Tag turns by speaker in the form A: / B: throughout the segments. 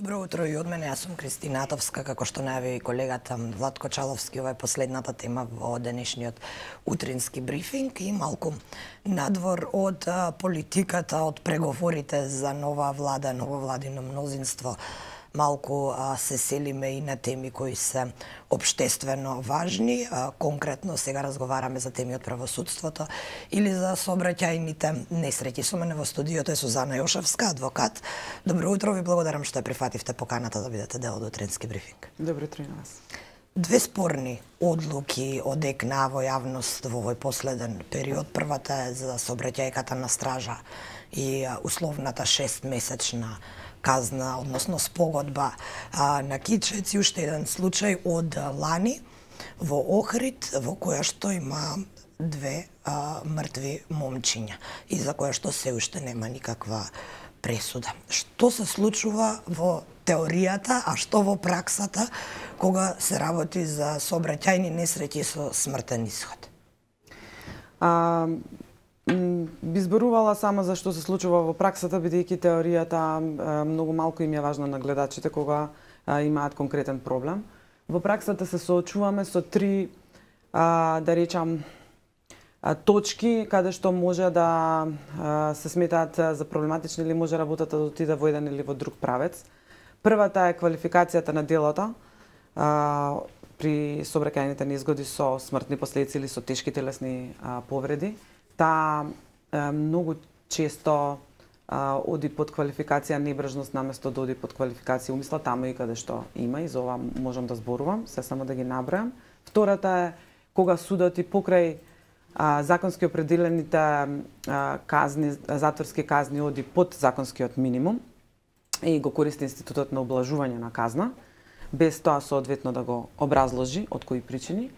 A: Добро утро и од мене, јас сум Кристина Атовска, како што најави колегата Владко Чаловски, ова е последната тема во денешниот утрински брифинг и малку надвор од политиката, од преговорите за нова влада, ново владино мнозинство. Малку се селиме и на теми кои се општествено важни. Конкретно сега разговараме за теми од правосудството или за сообраќајните несреќи. Со мене во студиото е Сузана Јошевска, адвокат. Добро утро, ви благодарам што ја прифативте поканата да бидете дел од утрински брифинг.
B: Добро утро на вас.
A: Две спорни одлуки одекна во јавност во овој последен период. Првата е за сообраќајката на стража и условната 6-месечна казна, односно спогодба на Кичец и уште еден случај од лани во Охрид, во која што има две мртви момчиња и за која што се уште нема никаква пресуда. Што се случува во теоријата, а што во праксата кога се работи за сообраќајни несреќи со смртен исход?
B: Би зборувала само за што се случува во праксата, бидејќи теоријата многу малку им е важна на гледачите кога имаат конкретен проблем. Во праксата се соочуваме со три, да речам, точки каде што може да се сметаат за проблематични или може работата да отиде во еден или во друг правец. Првата е квалификацијата на делото при сообраќајните незгоди со смртни последици или со тешки телесни повреди. Таа многу често оди под квалификација небрежност наместо да оди под квалификација умисла, таму и каде што има, и за ова можам да зборувам, се само да ги набројам. Втората е кога судот и покрај законски определените казни, затворски казни оди под законскиот минимум и го користи институтот на облажување на казна, без тоа соодветно да го образложи од кои причини.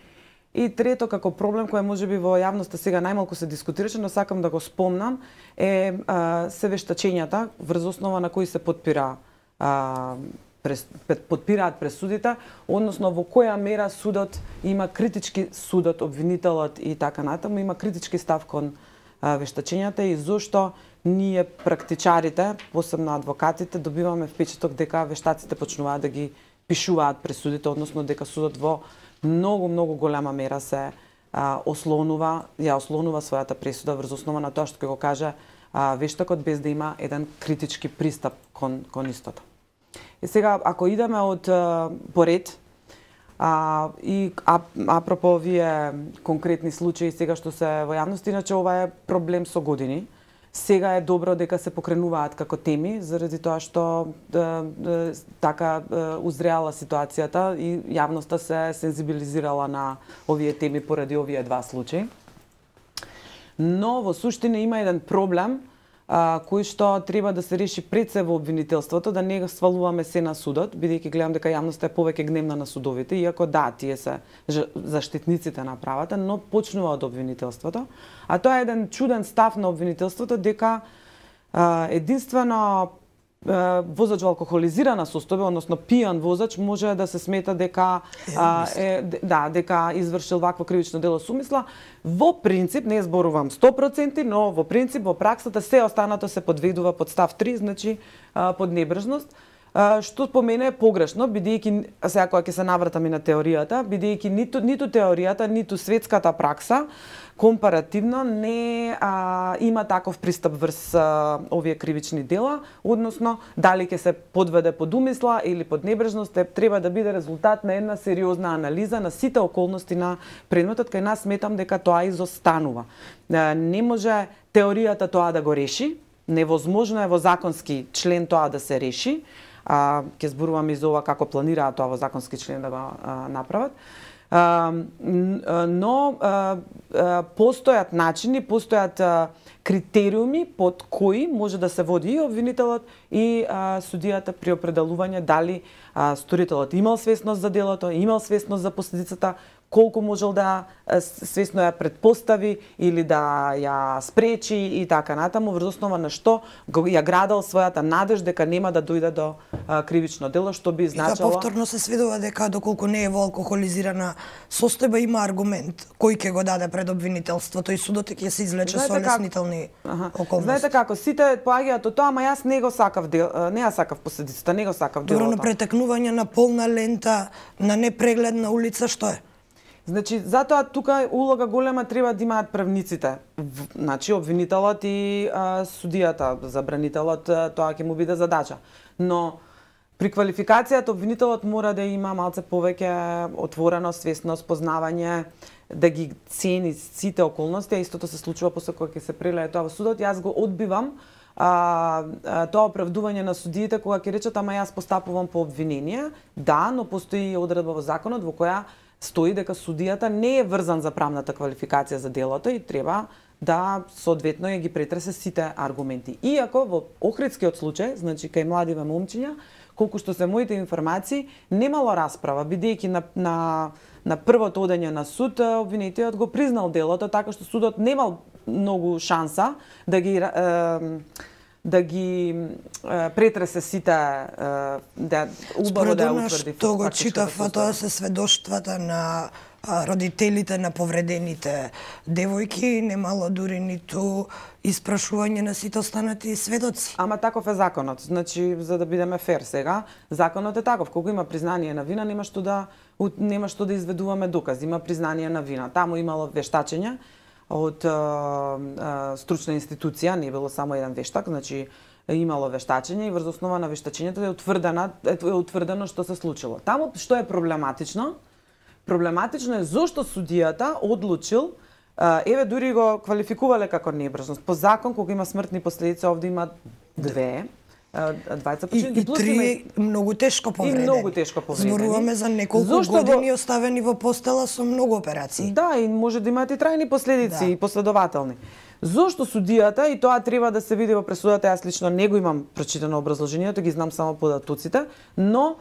B: И трето, како проблем кој можеби во јавноста сега најмалку се дискутираше, но сакам да го спомнам, е се вештачењата врз основа на кои се подпираат пресудите, односно во која мера судот има критички, судот, обвинителот и така натаму, има критички став кон вештачењата и зошто ние практичарите, посебно адвокатите, добиваме впечаток дека вештаците почнуваат да ги пишуваат пресудите, односно дека судот во многу голема мера се ослонува својата пресуда врз основа на тоа што ќе го каже вештакот, без да има еден критички пристап кон истото. И сега, ако идеме од поред, и апропо овие конкретни случаи сега што се во јавност, иначе ова е проблем со години. Сега е добро дека се покренуваат како теми, заради тоа што така узреала ситуацијата и јавноста се сензибилизирала на овие теми поради овие два случаи. Но во суштина има еден проблем кој што треба да се реши пред се во обвинителството, да не свалуваме се на судот, бидејќи гледам дека јавноста е повеќе гневна на судовите, иако да, тие се заштитниците на правата, но почнува од обвинителството. А тоа е еден чуден став на обвинителството дека единствено возач во алкохолизирана состојба, односно пијан возач, може да се смета дека дека извршил вакво кривично дело со умисла. Во принцип, не зборувам 100%, но во принцип во праксата се останато се подведува под став 3, значи под небрежност, што по мене е погрешно, бидејќи сега кога ќе се навратам и на теоријата, бидејќи ниту теоријата, ниту светската пракса компаративно не има таков пристап врз овие кривични дела, односно дали ќе се подведе под умисла или под небрежност, треба да биде резултат на една сериозна анализа на сите околности на предметот, кај нас сметам дека тоа изостанува. Не може теоријата тоа да го реши, невозможно е во законски член тоа да се реши. Ќе зборуваме и за ова како планираат тоа во законски член да го направат. Но постојат начини, постојат критериуми под кои може да се води и обвинителот и судијата при определување дали сторителот имал свесност за делото, имал свесност за последицата, колку можел да свесно ја предпостави или да ја спречи и така натаму, врз основа на што ја градел својата надеж дека нема да дојде до кривично дело, што би значило...
A: И повторно се сведува дека доколку не е во алкохолизирана состојба има аргумент кој ќе го даде пред обвинителството и судот ќе се извлече со олеснителни околности.
B: Знаете како, сите поаѓаат од тоа, ама јас не го сакав не ја сакав последицата, не го сакав делото.
A: Добро, но претекнување на полна лента на непрегледна улица што е?
B: Значи, затоа тука улога голема треба да имаат правниците. Значи, обвинителот и судијата, забранителот, тоа ќе му биде задача. Но при квалификацијата обвинителот мора да има малце повеќе отвореност, свесност, познавање, да ги цени сите околности, а истото се случува после кога ќе се прелее тоа во судот. Јас го одбивам тоа оправдување на судиите кога ќе речат ама јас постапувам по обвинение. Да, но постои одредба во законот во која стои дека судијата не е врзан за правната квалификација за делото и треба да соодветно ја ги претресе сите аргументи. Иако во охридскиот случај, значи кај младиве момчиња, колку што се моите информации, немало расправа, бидејќи на првото одење на суд, обвинетиот го признал делото, така што судот немал многу шанса да ги претресе сите да убаво да ја утврди.
A: Што го читав, тоа се сведоштвата на родителите на повредените девојки, немало дури ниту испрашување на сите останати сведоци.
B: Ама таков е законот. Значи, за да бидеме фер сега, законот е таков. Кога има признание на вина, нема што да изведуваме докази. Има признание на вина. Таму имало вештачење од стручна институција, не било само еден вештак, значи имало вештачење и врз основа на вештачењето е утврдено што се случило. Таму што е проблематично? Проблематично е зошто судијата одлучил, еве дури го квалификувале како небрежност. По закон, кога има смртни последици, овде има двајца починати
A: и три многу тешко повредени.
B: И многу тешко повредени.
A: Зборуваме за неколку години оставени во постела со многу операции.
B: Да, и може да имаат и трајни последици и последователни. Зошто судијата, и тоа треба да се види во пресудата, јас лично не го имам прочитано образложението, ги знам само податоците, но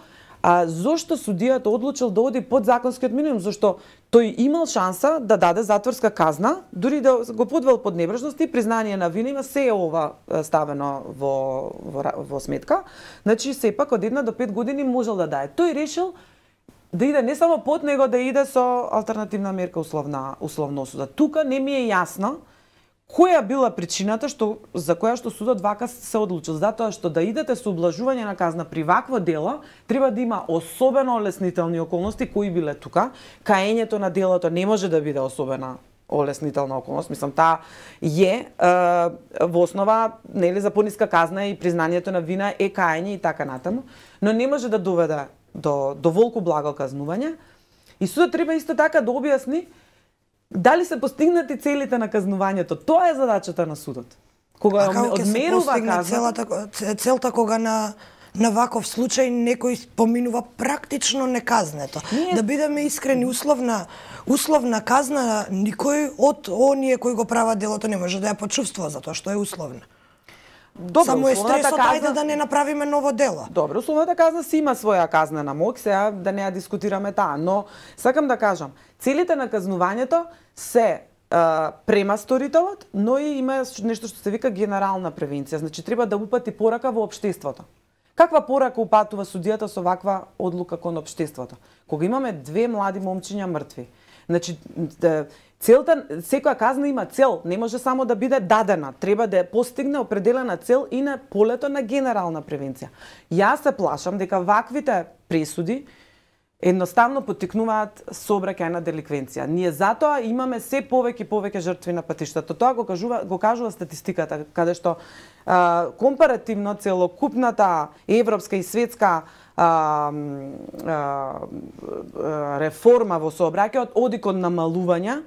B: зошто судијата одлучил да оди под законскиот минимум? Зашто тој имал шанса да даде затворска казна, дури да го подвел под небрежност и признание на вина, има се ова ставено во сметка. Значи, сепак од 1 до 5 години можел да даде. Тој решил да иде не само под, него да иде со алтернативна мерка условна осуда. Тука не ми е јасно која била причината за која што судот вака се одлучил? Затоа што да идете со ублажување на казна при вакво дело, треба да има особено олеснителни околности, кои биле тука. Каењето на делото не може да биде особена олеснителна околност. Мислам, таа е во основа, нели, за пониска казна и признанието на вина е каење и така натаму, но не може да доведе до волку благо казнување. И судот треба исто така да објасни дали се постигнати целите на казнувањето. Тоа е задачата на судот. Кога одмерува казна,
A: целта кога на ваков случај некој поминува практично неказнето. Да бидеме искрени, условна казна никој од оние кои го прават делото не може да ја почувствува затоа што е условна.
B: Добро,
A: само е стресот, ајде да не направиме ново дело.
B: Добро, условната казна си има своја казнена моќ, сега да не ја дискутираме таа, но сакам да кажам, целите на казнувањето се према сторителот, но и има нешто што се вика генерална превенција, значи треба да упати порака во општеството. Каква порака упатува судијата со ваква одлука кон општеството? Кога имаме 2 млади момчиња мртви, значи целта, секоја казна има цел, не може само да биде дадена, треба да постигне определена цел и на полето на генерална превенција. Јас се плашам дека ваквите пресуди едноставно поттикнуваат сообраќајна деликвенција. Ние затоа имаме се повеќе жртви на патиштата. Тоа го кажува статистиката, каде што компаративно целокупната европска и светска реформа во сообраќајот оди кон намалување,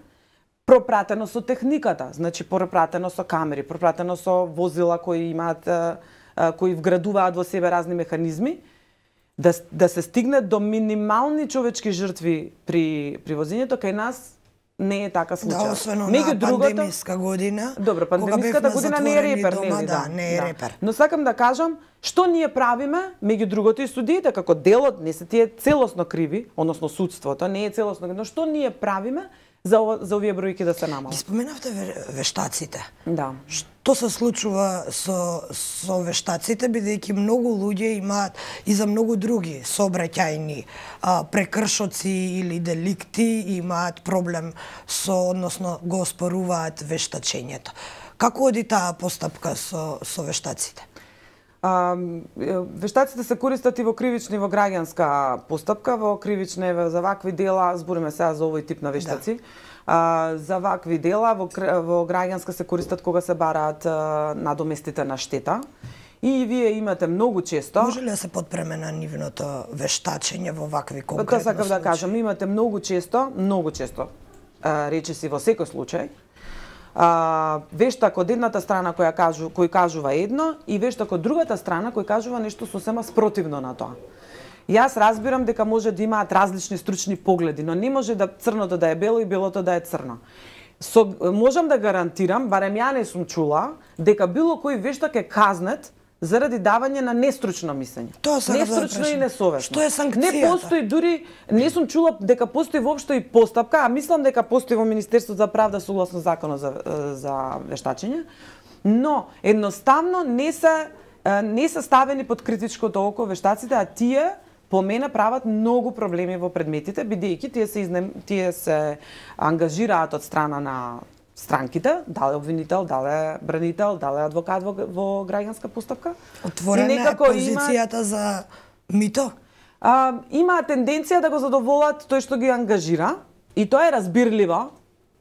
B: пропратено со техниката, значи пропратено со камери, пропратено со возила кои вградуваат во себе разни механизми, да се стигне до минимални човечки жртви при возењето. Кај нас не е така случај.
A: Да, освено на пандемиска година.
B: Добро, пандемиската година не е репер,
A: дома,
B: нели?
A: Да, не е репер.
B: Но сакам да кажам, што ние правиме, меѓу другото и судиите, како делот не се тие целосно криви, односно судството не е целосно, но што ние правиме за овие бројки да се намалат?
A: Ги споменавте вештаците.
B: Да.
A: Што се случува со вештаците, бидејќи многу луѓе имаат и за многу други сообраќајни прекршоци или деликти имаат проблем односно го оспоруваат вештачењето. Како оди таа постапка со вештаците?
B: Вештаците се користат и во кривична и во граѓанска постапка, во кривична за вакви дела, збориме сега за овој тип на вештаци. Да. За вакви дела во граѓанска се користат кога се бараат надоместите на штета. И вие имате многу често.
A: Може ли да се подпреме на нивното вештачење во вакви конкретни
B: случаи? Тоа сакав да кажам, имате многу често, речиси во секој случај, вештак од едната страна кој кажува едно и вештак од другата страна кој кажува нешто сосема спротивно на тоа. Јас разбирам дека може да имаат различни стручни погледи, но не може да црното да е бело и белото да е црно. Можам да гарантирам, барем ја не сум чула, дека било кој вештак е казнет заради давање на нестручно мислење. Нестручно и несовесно.
A: Што е санкцијата?
B: Не постои дури, не сум чула дека постои воопшто и постапка, а мислам дека постои во Министерството за правда согласно законот за вештачење, но едноставно не се ставени под критичкото око вештаците, а тие по мене прават многу проблеми во предметите, бидејќи тие се ангажираат од страна на странките, дали обвинител, дали бранител, дали адвокат во граѓанска постапка.
A: Отворена е позицијата за мито?
B: Има тенденција да го задоволат тој што ги ангажира и тоа е разбирливо,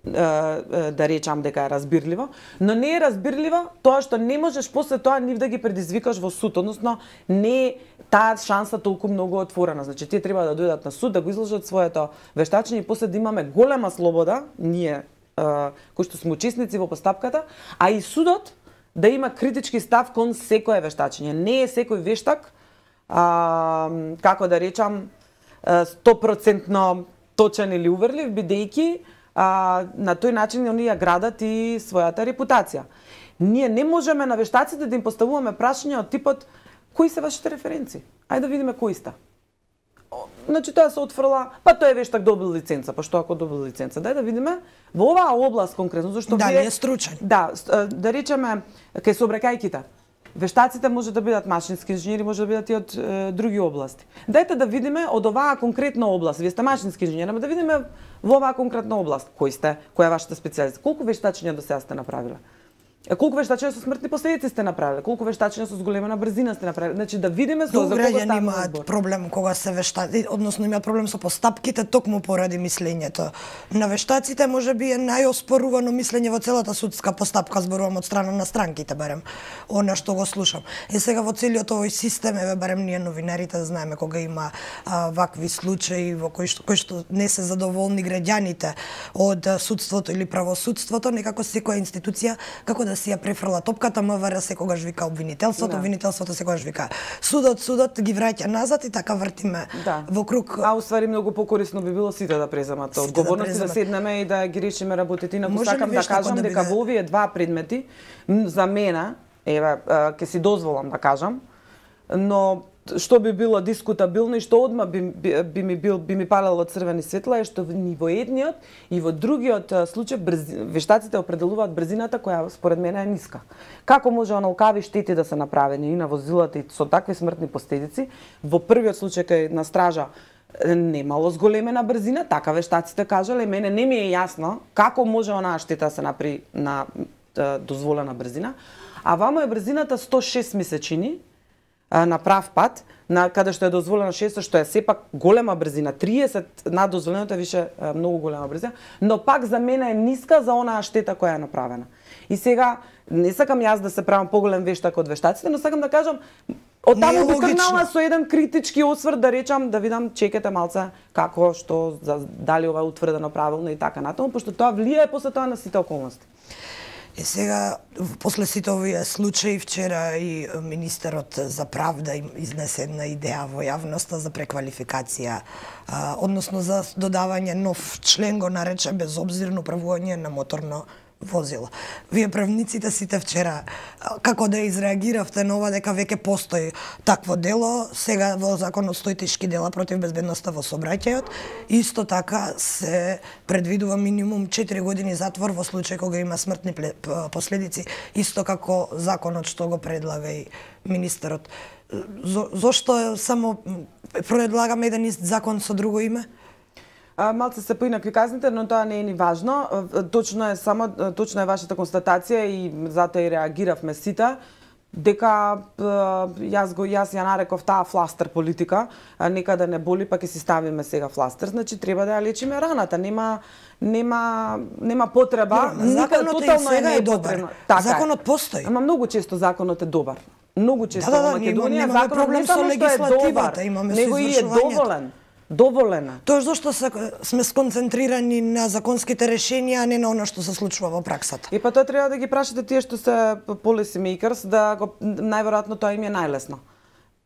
B: да речам дека е разбирливо, но не е разбирливо тоа што не можеш после тоа нив да ги предизвикаш во суд, односно не е таа шанса толку многу отворена. Значи тие треба да дојдат на суд, да го изложат своето вештачење и после да имаме голема слобода, ние кои што сме учесници во постапката, а и судот да има критички став кон секое вештачење. Не е секој вештак, како да речам, 100% точен или уверлив, бидејќи на тој начин они ја градат и својата репутација. Ние не можеме на вештаците да им поставуваме прашања од типот кои се вашите референци? Ајде да видиме кои сте. Значи тоа се отфрла, па тој е вештак добил лиценца, па што ако добил лиценца? Дај да видиме во оваа област конкретно, зашто
A: дали е стручен.
B: Да, да речеме кај сообраќајките. Вештаците може да бидат машински инженери, може да бидат и од други области. Дајте да видиме од оваа конкретна област. Вие сте машински инженери, ама да видиме во оваа конкретна област кој сте, која е вашата специјализација. Колку вештачења до сега сте направиле? Колку вештачења со смртни последици сте направиле? Колку вештачења со зголемена брзина сте направиле? Значи да видиме за кого
A: става имаат проблем кога се вештаци, односно имаат проблем со постапките токму поради мислењето. На вештаците можеби е најоспорувано мислење во целата судска постапка, зборувам од страна на странките барем. Она што го слушам. Сега во целиот овој систем, барем ние новинарите да знаеме кога има вакви случаи во кои што не се задоволни граѓаните од судството или правосудството, некако секоја институција како да си ја префрла топката, МВР секогаш вика обвинителството, обвинителството секогаш вика судот ги враќа назад и така вртиме во круг.
B: А уствари многу покорисно би било сите да преземат одговорност, да седнеме и да ги решиме работите. Инаку сакам да кажам дека во овие два предмети за мене, еве ќе си дозволам да кажам, но што би било дискутабилно и што одма би ми палело црвени светла е што ни во едниот и во другиот случај вештаците определуваат брзината која според мене е ниска. Како може оналкави штети да се направени и на возилата и со такви смртни последици? Во првиот случај кај на стража немало зголемена брзина, така вештаците кажале, мене не ми е јасно како може онаа штета да се направи на дозволена брзина, а вамо е брзината 106 месечини на прав пат, каде што е дозволено 600, што е сепак голема брзина, 30 над дозволеното е више многу голема брзина, но пак за мене е ниска за онаа штета која е направена. И сега, не сакам јас да се правам поголем вештак од вештаците, но сакам да кажам, од таму би тргнала со еден критички осврт да речам, да видам, чекате малце како, што, дали ова е утврдено правилно и така натаму, пошто тоа влијае после тоа на сите околности.
A: Сега, после сите овие случаи, вчера и министерот за правда им изнесе една идеја во јавноста за преквалификација, односно за додавање нов член, го нарече безобзирно управување на моторно возило. Вие правниците сите вчера како да изреагиравте на ова дека веќе постои такво дело, сега во законот стои тешки дела против безбедноста во сообраќајот, исто така се предвидува минимум 4 години затвор во случај кога има смртни последици, исто како законот што го предлага и министерот. Зошто само предлагаме еден ист закон со друго име?
B: Малце се поинакви казните, но тоа не е ни важно. Точно е вашата констатација и затоа и реагиравме сите дека јас ја нареков таа фластер политика, нека да не боли, па ќе си ставиме сега фластер, значи треба да ја лечиме раната, нема потреба,
A: законот сега е добар. Законот постои.
B: Ама многу често законот е добар. Многу често во Македонија
A: законот не само што е добар,
B: него и е доволен.
A: Тоа зашто сме сконцентрирани на законските решенија, а не на она што се случува во праксата.
B: И па тоа треба да ги прашате тие што се policy makers, да најверојатно тоа им е најлесно.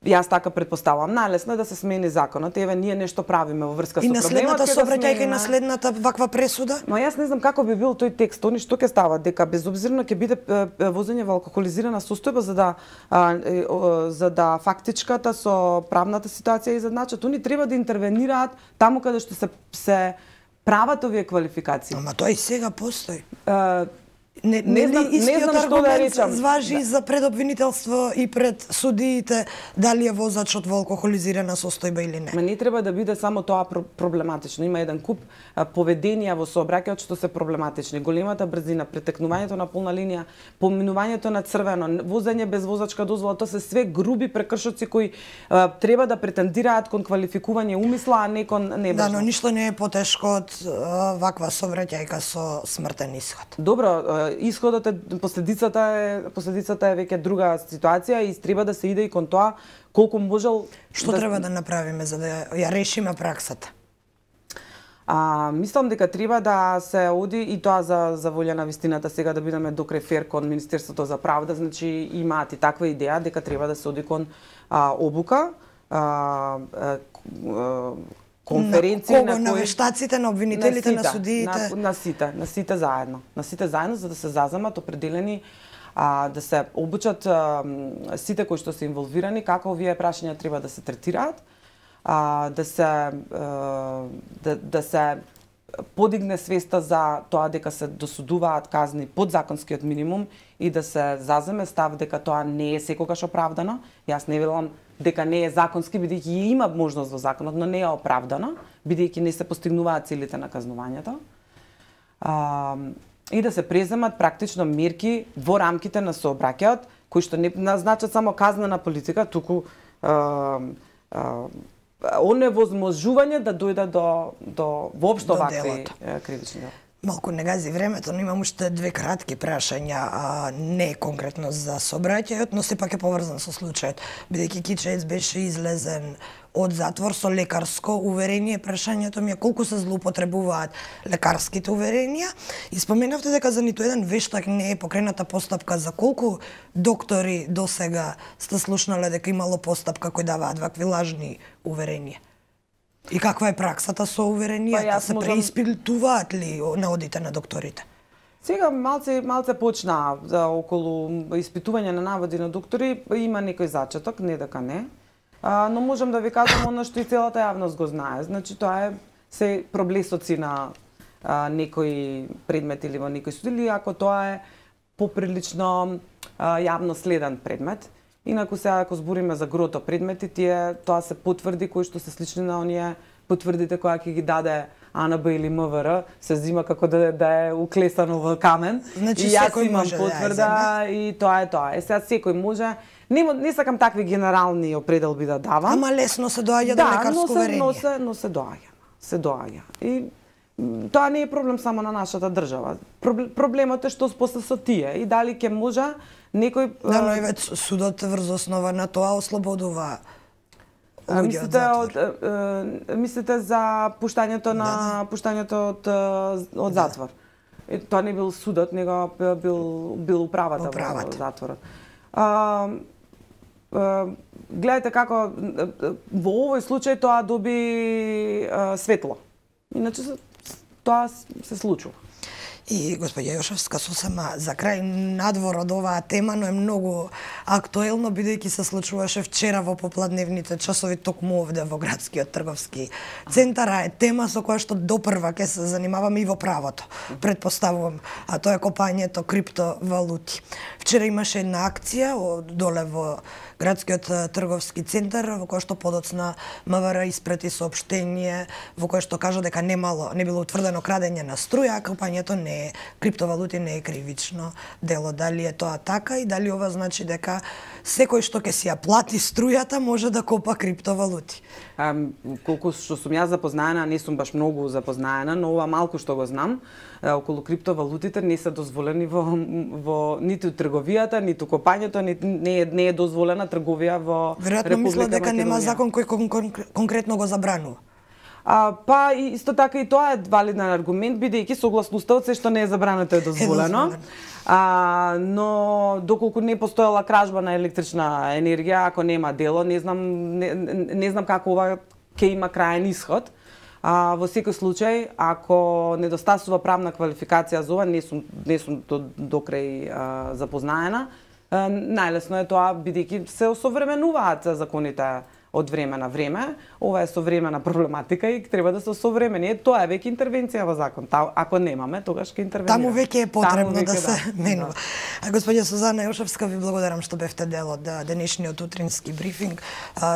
B: Јас така претпоставувам, најлесно е да се смени законот. Еве ние нешто правиме во врска со проблемот.
A: И наследната сообраќајка и наследната ваква пресуда?
B: Но јас не знам како би бил тој текст. Они што ќе става дека безобзирно ќе биде возење во алкохолизирана состојба за да фактичката со правната ситуација изедначат. Они треба да интервенираат таму каде што се прават овие квалификации.
A: Ама тоа и сега постои.
B: Не знам што да речам.
A: Важи за предобвинителство и пред судиите дали е возачот во алкохолизирана состојба или не.
B: Не треба да биде само тоа проблематично. Има еден куп поведенија во сообраќајот што се проблематични. Големата брзина, претекнувањето на полна линија, поминувањето на црвено, возење без возачка дозвола, тоа се све груби прекршоци кои треба да претендираат кон квалификување умисла, а не кон небрежност.
A: Да, но ништо не е потешко од ваква сообраќајка со смртен ишод.
B: Добро, исходот е последицата е веќе друга ситуација и треба да се иде и кон тоа колку можел.
A: Што треба да направиме за да ја решиме праксата?
B: Мислам дека треба да се оди и тоа за волја на вистината сега да бидеме до крај фер кон Министерството за правда, значи имаат и таква идеја дека треба да се оди кон обука, конференции
A: на вештаците, на обвинителите, на судиите,
B: на сите заедно. На сите заедно за да се заземат определени да се обучат сите кои што се инволвирани како овие прашања треба да се третираат, да се подигне свеста за тоа дека се досудуваат казни под законскиот минимум и да се заземе став дека тоа не е секогаш оправдано. Јас не велам дека не е законски, бидејќи има можност во законот, но не е оправдано, бидејќи не се постигнуваат целите на казнувањето. И да се преземат практично мерки во рамките на сообраќајот, кои што не назначат само казнена политика, туку оневозможување да дојде до воопшто вакви кривични дела.
A: Малку не гази времето, но имам уште две кратки прашања, не конкретно за сообраќајот, но сепак е поврзан со случајот. Бидејќи Кичеец беше излезен од затвор со лекарско уверение, прашањето ми е колку се злоупотребуваат лекарските уверенија и споменавте дека за ниту еден вештак не е покрената постапка. За колку доктори досега сте слушнале дека имало постапка кои даваат вакви лажни уверенија? И каква е праксата со уверенијата? Се преиспитуваат ли на одите на докторите?
B: Сега малце почна околу испитување на наводи на доктори, има некој зачеток, не дека не. Но можам да ви кажам оно што и целата јавност го знае. Значи тоа е се проблесоци на некој предмет или во некој суд, или ако тоа е поприлично јавно следен предмет. Инаку сега ако збориме за грото предмети, тоа се потврди кои што се слични на оние потврдите која ќе ги даде АНБ или МВР, се зима како да е уклесано во камен.
A: Значи,
B: и јас имам потврда и тоа е тоа. Сега секој може. Не сакам такви генерални определби да давам.
A: Ама лесно се доаѓа до лекарско уверение.
B: Но се доаѓа. Се доаѓа. И тоа не е проблем само на нашата држава. Проблемот е што после со тие и дали ќе може некој...
A: Да, но еве судот врз основа на тоа ослободува луѓе од затвор.
B: Мислите за пуштањето од затвор? Тоа не бил судот, него бил управата во затворот. Гледате како во овој случај тоа доби светло. Иначе тоа се случува.
A: И господја Јошевска, сосема за крај надвор од оваа тема, но е многу актуелно, бидејќи се случуваше вчера во попладневните часови токму овде во градскиот трговски центар, е тема со која што допрва ќе се занимаваме и во правото, предпоставувам, а тоа е копањето криптовалути. Вчера имаше една акција доле во градскиот трговски центар, во која што подоцна МВР испрати соопштение во кое што кажа дека не било утврдено крадење на струја, а копањето криптовалути не е кривично дело. Дали е тоа така и дали ова значи дека секој што ќе си ја плати струјата може да копа криптовалути?
B: Колку што сум јас запознаена, не сум баш многу запознаена, но ова малку што го знам, околу криптовалутите не се дозволени во ниту трговијата, ниту копањето, не е дозволена трговија во Република Македонија.
A: Веројатно мислат дека нема закон кој конкретно го забранува.
B: Па исто така и тоа е валиден аргумент, бидејќи согласноста од се што не е забрането е дозволено. Но доколку не постоела кражба на електрична енергија, ако нема дело, не знам како ова ќе има краен исход. Во секој случај, ако недостасува правна квалификација за ова, не сум до крај запознаена. Најлесно е тоа, бидејќи се осовременуваат законите од време на време. Ова е современа проблематика и треба да се осовремени. Тоа е веќе интервенција во закон. Ако немаме, тогаш ќе интервенираме.
A: Таму веќе е потребно да се менува. Господја Сузана Јошевска, ви благодарам што бевте дел од денешниот утрински брифинг.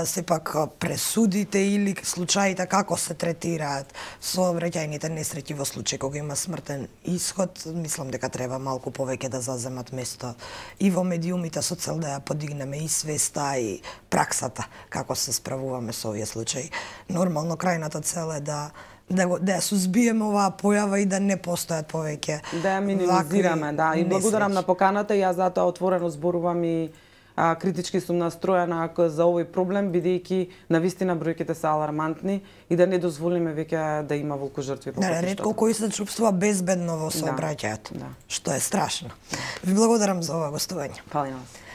A: Сепак пресудите или случаите како се третираат сообраќајните несреќи во случај кога има смртен исход, мислам дека треба малку повеќе да заземат место и во медиумите со цел да ја подигнеме и свеста и праксата како се справуваме со овие случаи. Нормално крајната цел е да ја сузбиеме оваа појава и да не постојат повеќе.
B: Да ја минимизираме, да. И благодарам на поканата, јас затоа отворено зборувам и критички сум настроена за овој проблем, бидејќи навистина бројките се алармантни и да не дозволиме веќе да има волкожртви.
A: Ретко кој се чувствува безбедно во сообраќајот, што е страшно. Ви благодарам за ова гостување.
B: Фали на вас.